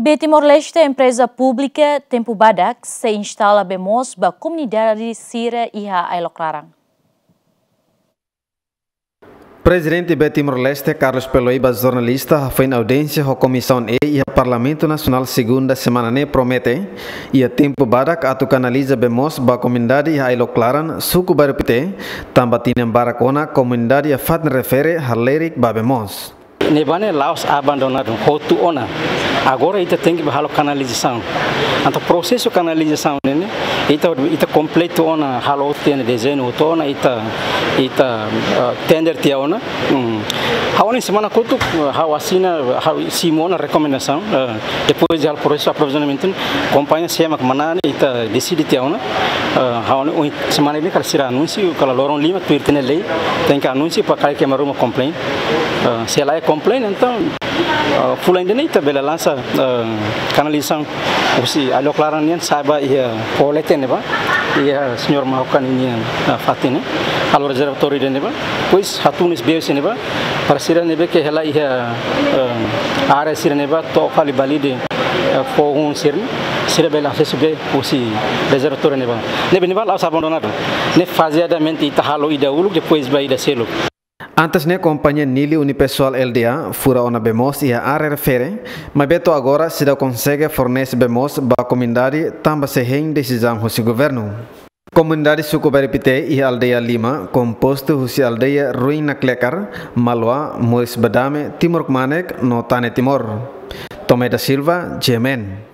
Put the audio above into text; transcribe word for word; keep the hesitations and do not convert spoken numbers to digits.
Be Timor-Leste, empreza públika tempu badak sei instala bee moos ba komunidade sira iha Ailok Laran. Prezidente Be Timor-Leste, Carlos Peloiba, jornalista hafoin audiénsia ho Komisaun E iha Parlamentu Nasionál segunda semana ne'e promete iha tempu badak atu kanaliza bee moos ba komunidade iha Ailok Laran, suku Bairru Pité, tanba tinan barak ona komunidade iha fatin refere halerik ba bee moos. Ne'ebá ne'e la'ós abandonadu, hotu ona. Agora ita tenke ba halo kanalizasaun. Entaun prosesu kanalizasaun ne'e, ita, ita kompletu ona, halo tiha ona dezeñu hotu ona, ita, ita, eh, tender tiha ona. Hmm. Ha'u ne'e semana kotuk, eh, ha'u asina, ha'u simu ona rekomendasaun, eh, depois de halo prosesu aprovizionamentu, kompañia sé mak manán, ita deside tiha ona. Eh, ha'u ne'e, ohin, semana ne'e kala sira anunsiu, kala loron lima tuir tiha ona lei, tenke anunsiu para karik ema ruma complain. Eh, se la iha complain, entaun, eh, fulan ida-ne'e ita bele lansa, eh, kanalizasaun husi Ailok Laran nian sa'e ba iha Polete ne'ebá, iha señór Mahukan nian, eh, fatin ne'e, halo rezervatóriu ida ne'ebá, depois hatún bee sira ne'ebá, para sira ne'ebé ke hela iha, eh, área sira ne'ebá, to'o fali Balide, eh, foho sira-ne'e, sira bele asesu bee husi rezervatóriu ne'ebá. Ne'ebé ne'ebá la'ós abandonadu. Ne'e fazeadamente ita halo ida uluk, depois ba ida seluk. Antes ne'e kompañia Nili Unipessoal Lda fura ona bee moos iha área refere, maibé to'o agora seidauk konsege fornese bee moos ba komunidade tanba sei hein desizaun husi governu. Komunidade suku Bairru Pité iha aldeia lima, kompostu husi aldeia Ruin Naklekar, Maloa, Moris Badame, Timor Kmanek, no Tane Timor. Tomé da Silva, G M N.